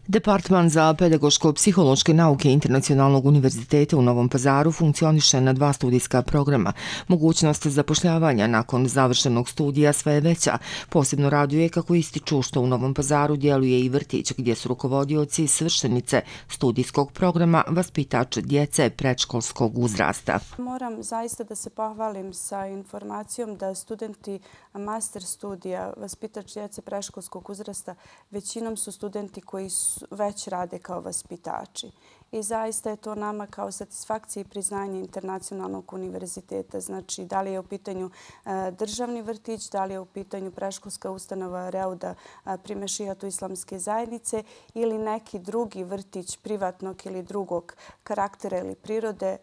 Departman za pedagoško-psihološke nauke Internacionalnog univerziteta u Novom Pazaru funkcioniše na 2 studijska programa. Mogućnost zapošljavanja nakon završenog studija sve je veća. Posebno raduje kako ističu što u Novom Pazaru djeluje i vrtić gdje su rukovodioci svršenice studijskog programa vaspitač djece predškolskog uzrasta. Moram zaista da se pohvalim sa informacijom da studenti master studija vaspitač djece predškolskog uzrasta većinom su studenti koji već rade kao vaspitači. I zaista je to nama kao satisfakcija i priznanje Internacionalnog univerziteta. Znači, da li je u pitanju državni vrtić, da li je u pitanju predškolska ustanova Reuda pri Mešijatu islamske zajednice ili neki drugi vrtić privatnog ili drugog karaktera ili prirode.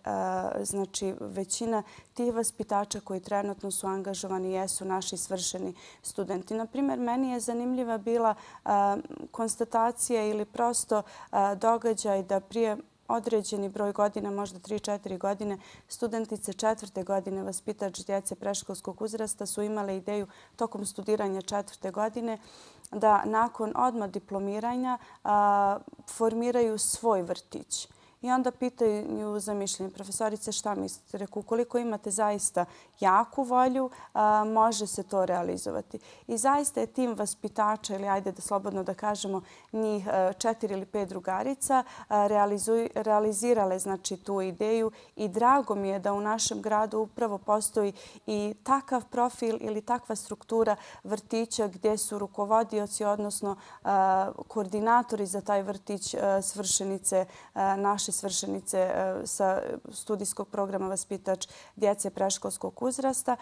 Znači, većina tih vaspitača koji trenutno su angažovani jesu naši svršeni studenti. Naprimjer, meni je zanimljiva bila konstatacija ili prosto događaj da prije određeni broj godina, možda 3-4 godine, studentice 4. godine vaspitač djece predškolskog uzrasta su imale ideju tokom studiranja 4. godine da nakon odmah diplomiranja formiraju svoj vrtić. I onda pitaju za mišljenje profesorice šta mislite. Reku, ukoliko imate zaista jaku volju, može se to realizovati. I zaista je tim vaspitača, ili ajde da slobodno da kažemo njih 4 ili 5 drugarica, realizirale znači tu ideju i drago mi je da u našem gradu upravo postoji i takav profil ili takva struktura vrtića gdje su rukovodioci, odnosno koordinatori za taj vrtić svršenice, naše svršenice sa studijskog programa vaspitač djece predškolskog uzrasta.